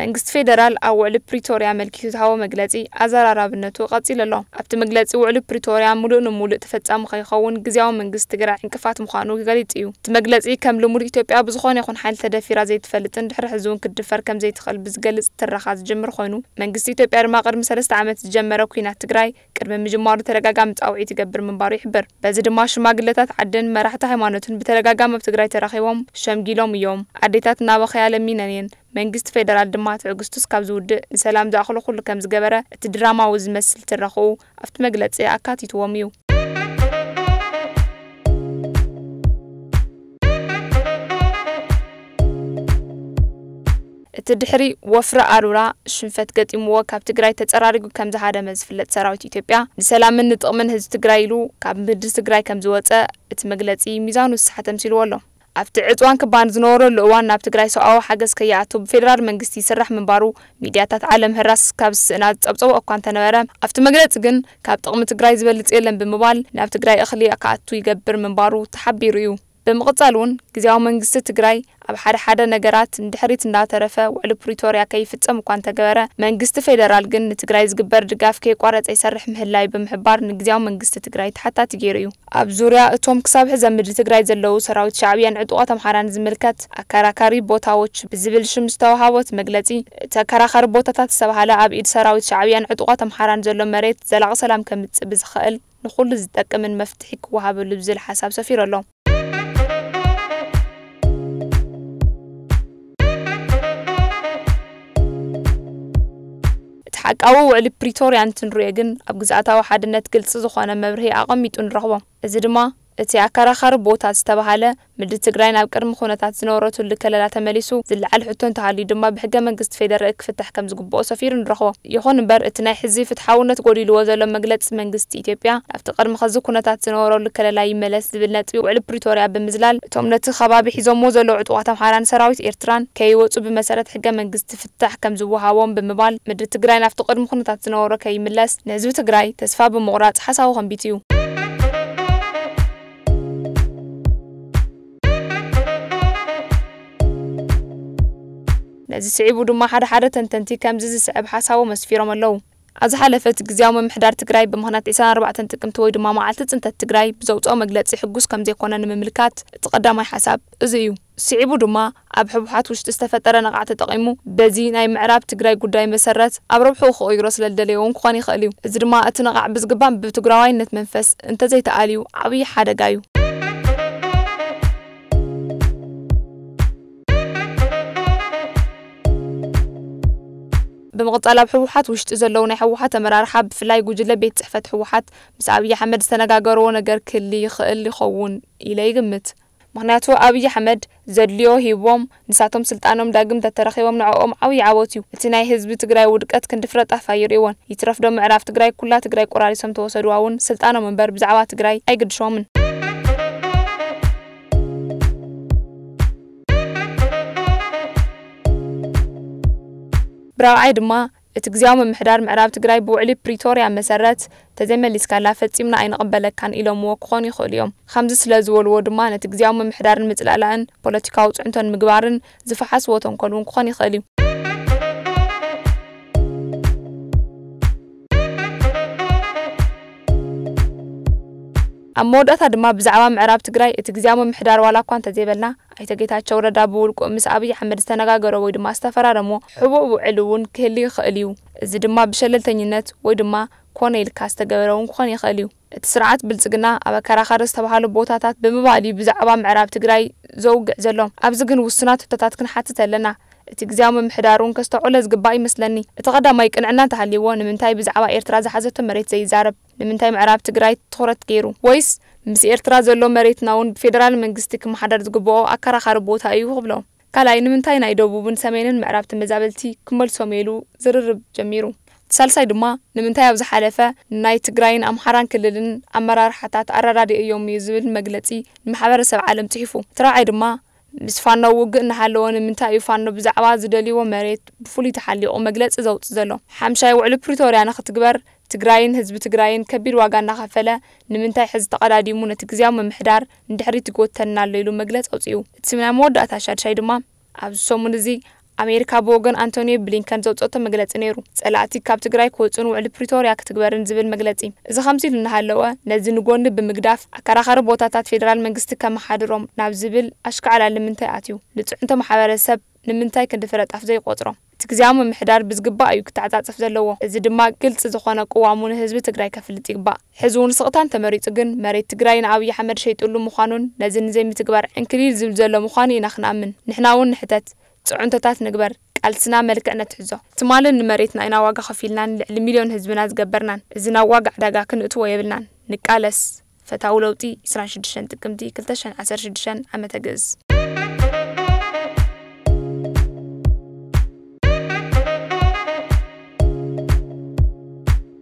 መንግስቲ ፌደራል ኣብ ውዕሊ ፕሪቶርያ ኣመልኪቱ ዝሃቦ መግለጺ ኣዘራራብነቱ ቀጺሉ ኣሎ። ኣብቲ መግለጺ፣ ውዕሊ ፕሪቶርያ ምሉእ ንምሉእ ተፈጻሚ ከይኸውን ግዝያዊ መንግስቲ ትግራይ ዕንቅፋት ምዃኑ ገሊጹ እዩ። እቲ መግለጺ፣ ከም ልሙድ ኢትዮጵያ ብዝኾነ ይኹን ሓይሊ ተደፊራ ዘይትፈልጥን ድሕሪ ሕዚ እውን ክትድፈር ከም ዘይትኽእል ብዝገልጽ ትረኻ ዝጅምር ኮይኑ፣ መንግስቲ ኢትዮጵያ ድማ ቅድሚ ሰለስተ ዓመት ዝጀመረ ኲናት ትግራይ ቅድሚ ምጅማሩ ተደጋጋሚ ጻውዒት ይገብር ምንባሩ ይሕብር። በዚ ድማ ሽማግለታት ዓድን መራሕቲ ሃይማኖትን ብተደጋጋሚ ኣብ ትግራይ ተራኺቦም ሸምጊሎም እዮም። ኣዴታት እናበኸያ ለሚነን እየን። መንግስቲ ፌደራል ድማ ትዕግስቱ እስካብ ዝውድእ ንሰላም ዝኣኽሎ ኩሉ ከም ዝገበረ እቲ ድራማዊ ዝመስል ትረኽኡ ኣብቲ መግለጺ ኣካቲትዎም እዩ። እቲ ድሕሪ ወፍሪ ኣሩራ ሽንፈት ገጢምዎ ካብ ትግራይ ተጸራሪጉ ከም ዝሃደመ ዝፍለጥ ሰራዊት ኢትዮጵያ፣ ንሰላምን ንጥቕምን ህዝቢ ትግራይ ኢሉ ካብ ምድሪ ትግራይ ከም ዝወጸ እቲ መግለጺ ሚዛኑ ዝሰሓተ ኣምሲልዎ ኣሎ። ኣብቲ ዕጽዋን ክባን ዝነበረሉ እዋን ናብ ትግራይ ሰብኣዊ ሓገዝ ከይኣቱ ብፌደራል መንግስቲ ይስራሕ ምንባሩ ሚድያታት ዓለም ህራስ ካብ ዝስእና ዝጸብጸቦ እኳ እንተነበረ፣ ኣብቲ መግለጺ ግን ካብ ጥቕሚ ትግራይ ዝበልጽ የለን ብምባል ናብ ትግራይ እኽሊ ክኣቱ ይገብር ምንባሩ ተሓቢሩ እዩ። ብምቕጻል እውን ግዝያዊ መንግስቲ ትግራይ ኣብ ሓደ ሓደ ነገራት ንድሕሪት እንዳተረፈ ውዕሊ ፕሪቶርያ ከይፍጸም እኳ እንተገበረ፣ መንግስቲ ፌደራል ግን ንትግራይ ዝግበር ድጋፍ ከየቋረጸ ይሰርሕ ምህላዩ ብምሕባር ንግዝያዊ መንግስቲ ትግራይ ተሓታቲ ገይሩ እዩ። ኣብ ዙርያ እቶም ክሳብ ሕዚ ኣብ ምድሪ ትግራይ ዘለዉ ሰራዊት ሻዕብያን ዕጡቓት ኣምሓራን ዝምልከት ኣከራካሪ ቦታዎች ብዝብል ሽም ዝተዋሃቦ እቲ መግለጺ፣ እቲ ኣከራኻሪ ቦታታት ዝተባሃለ ኣብ ኢድ ሰራዊት ሻዕብያን ዕጡቓት ኣምሓራን ዘሎ መሬት ዘላቒ ሰላም ከምጽእ ብዝኽእል ንኹሉ ዝጠቅምን መፍትሒ ክወሃበሉ ዝብል ሓሳብ ሰፊሩ ኣሎ። እቲ ሓቃዊ ውዕሊ ፕሪቶርያ እንትንሪኦ ግን ኣብ ግዝኣታዊ ሓድነት ግልፂ ዝኾነ መብርሂ ኣቐሚጡ ንረኽቦ። እዚ ድማ እቲ ኣከራኻሪ ቦታ ዝተባሃለ ምድሪ ትግራይ ናብ ቅድሚ ኩነታት ዝነበረትሉ ከለላ ተመሊሱ ዝለዓል ሕቶ እንተሃልዩ ድማ ብሕገ መንግስቲ ፌደራል ክፍታሕ ከም ዝግብኦ ሰፊሩ ንረኽቦ። ይኹን እምበር እቲ ናይ ሕዚ ፍትሓውነት ጎዲልዎ ዘሎ መግለፂ መንግስቲ ኢትዮጵያ ናብቲ ቅድሚ ኸዚ ኩነታት ዝነበረሉ ከለላ ይመለስ ዝብል ነጥቢ ውዕሊ ፕሪቶርያ ብምዝላል እቶም ነቲ ከባቢ ሒዞሞ ዘለዉ ዕጡቓት ኣምሓራን ሰራዊት ኤርትራን ከይወፁ ብመሰረት ሕገ መንግስቲ ፍታሕ ከም ዝወሃቦም ብምባል ምድሪ ትግራይ ናብቲ ቅድሚ ኩነታት ዝነበሮ ከይምለስ ንህዝቢ ትግራይ ተስፋ ብምቑራፅ ሓሳቡ ከንቢቱ እዩ። ነዚ ስዒቡ ድማ ሓደ ሓደ ተንተንቲ ከምዚ ዝስዕብ ሓሳቦም ኣስፊሮም ኣለዉ። ኣብ ዝሓለፈ እቲ ግዝያዊ ምምሕዳር ትግራይ ብምኽንያት ዕስራን ኣርባዕተን ጥቅምቲ ወይ ድማ መዓልቲ ፅንተት ትግራይ ብዘውፅኦ መግለፂ ሕጉስ ከም ዘይኮነ ንምምልካት እቲ ቀዳማይ ሓሳብ እዚ እዩ። ስዒቡ ድማ ኣብ ህወሓት ውሽጢ ዝተፈጠረ ነቓዕ ተጠቒሙ በዚ ናይ ምዕራብ ትግራይ ጉዳይ መሰረት ኣብ ረብሕኡ ክቕይሮ ስለ ዝደለየ እውን ክኾን ይኽእል እዩ። እዚ ድማ እቲ ነቓዕ ብዝግባእ ብትግራዋይነት መንፈስ እንተዘይተኣልዩ ዓብዪ ሓደጋ እዩ። ብምቕጻል ኣብ ህወሓት ውሽጢ ዘለዉ ናይ ህወሓት ኣመራርሓ ብፍላይ ጉጅለ ቤት ጽሕፈት ህወሓት ምስ ኣብይ ኣሕመድ ዝተነጋገርዎ ነገር ክህሊ ይኽእል ይኸውን ኢለ ይግምት። ምኽንያቱ ኣብይ ኣሕመድ ዘድልዮ ሂቦም ንሳቶም ስልጣኖም ዳግም ተተረኺቦም ንዕኦም ዓብዪ ዓወት እዩ። እቲ ናይ ህዝቢ ትግራይ ውድቀት ክንዲ ፍረ ጣፋ ይርእይዎን። ይትረፍ ዶ ምዕራብ ትግራይ ኩላ ትግራይ ቆራሪሶም ተወሰድዋ እውን ስልጣኖም እምበር ብዛዕባ ትግራይ ኣይግድሾምን። ብራብዓይ ድማ እቲ ግዝያዊ ምምሕዳር ምዕራብ ትግራይ ብውዕሊ ፕሪቶርያ መሰረት ተዘይመሊስካላ ፈጺምና ኣይንቕበለካን ኢሎምዎ ክኾኑ ይኽእሉ እዮም። ከምዚ ስለ ዝበልዎ ድማ ነቲ ግዝያዊ ምምሕዳር ንምጽላላእን ፖለቲካዊ ጽዕንቶ ንምግባርን ዝፈሓስዎ ተንኮል እውን ክኾን ይኽእል እዩ። ኣብ መወዳእታ ድማ ብዛዕባ ምዕራብ ትግራይ እቲ ግዝያዊ ምምሕዳር ዋላ እኳ እንተዘይበልና ኣይተ ጌታቸው ረዳ ብውልቁ ምስ ኣብይ ኣሕመድ ዝተነጋገሮ ወይ ድማ ዝተፈራረሞ ሕቡእ ውዕል እውን ክህሊ ይኽእል እዩ። እዚ ድማ ብሸለልተኝነት ወይ ድማ ኮነ ኢልካ ዝተገበረ እውን ክኾን ይኽእል እዩ። እቲ ስርዓት ብልጽግና ኣብ ኣከራኻሪ ዝተባህሉ ቦታታት ብምባል እዩ ብዛዕባ ምዕራብ ትግራይ ዘውግዕ ዘሎ። ኣብዚ ግን ውሱናት ሕቶታት ክንሓትት ኣለና። እቲ ግዝያዊ ምምሕዳር እውን ከስተውዕሎ ዝግባእ ይመስለኒ። እቲ ቀዳማይ ቅንዕና እንተሃልይዎ ንምንታይ ብዛዕባ ኤርትራ ዝሓዘቶ መሬት ዘይዛረብ? ንምንታይ ምዕራብ ትግራይ ትኹረት ገይሩ? ወይስ ምስ ኤርትራ ዘሎ መሬትና እውን ብፌደራል መንግስቲ ክመሓደር ዝግብኦ ኣከራኻሪ ቦታ እዩ ክብሎ? ካልኣይ ንምንታይ ናይ ደቡብን ሰሜንን ምዕራብ ተመዛበልቲ ክመልሶም ኢሉ ዝርርብ ጀሚሩ? ሳልሳይ ድማ ንምንታይ ኣብ ዝሓለፈ ናይ ትግራይን ኣምሓራን ክልልን ኣመራርሓታት ኣረዳዲኦም እዩ ዝብል መግለጺ ንማሕበረሰብ ዓለም ጽሒፉ? እቲ ራብዓይ ድማ ምስ ፋኖ ውግእ እናሃለወ ንምንታይ እዩ ፋኖ ብዛዕባ ዝደልይዎ መሬት ብፍሉይ ተሓሊቑ መግለጺ ዘውጽእ ዘሎ? ሓምሻይ ውዕሊ ፕሪቶርያ ንኽትግበር ትግራይን ህዝቢ ትግራይን ከቢድ ዋጋ እናኸፈለ ንምንታይ ሕዚ ተቐዳዲሙ ነቲ ግዝያዊ ምምሕዳር ንድሕሪት ይጎተና ኣሎ ኢሉ መግለጺ ኣውጺኡ። እቲ ናይ መወዳእታ ሻድሻይ ድማ ኣብዚ ሰሙን እዚ ኣሜሪካ ብወገን ኣንቶኒዮ ብሊንከን ዘውፀቶ መግለፂ ነይሩ። ፀላእቲ ካብ ትግራይ ክወፁን ውዕሊ ፕሪቶርያ ክትግበርን ዝብል መግለፂ። እዚ ከምዚ ኢሉ እናሃለወ፣ ነዚ ንጎኒ ብምግዳፍ ኣከራኻሪ ቦታታት ፌደራል መንግስቲ ከመሓድሮም ናብ ዝብል ኣሽካዕላል ንምንታይ ኣትዩ? ንፅዕንቶ ማሕበረሰብ ንምንታይ ክንዲ ፍረ ጣፍ ዘይቆፅሮ? እቲ ግዜያዊ ምምሕዳር ብዝግባእ እዩ ክተዓፃፀፍ ዘለዎ። እዚ ድማ ግልፂ ዝኾነ ቅዋሙ ንህዝቢ ትግራይ ከፍልጥ ይግባእ። ሕዚ እውን ስቕታን ተመሪፁ ግን መሬት ትግራይ ንኣብይ ኣሕመድ ሸይጥሉ ምዃኑን ነዚ ንዘይምትግባር ዕንክሊል ዝብል ዘሎ ምዃኑ ኢና ክንኣምን። ንሕና እውን ንሕተት፣ ፅዑንቶታት ንግበር፣ ቃልስና መልክዕ ነትሕዞ። ትማልን ንመሬትና ኢና ዋጋ ከፊልናን ልዕሊ ሚልዮን ህዝብና ዝገበርናን። እዚ ናብ ዋጋ ዕዳጋ ክንእትዎ የብልናን። ንቃለስ። ፈታዊ ለውጢ፣ ዕስራን ሽዱሽተን ጥቅምቲ ክልተ ሽሕን ዓሰርተ ሽዱሽተን ዓመተ ግእዝ።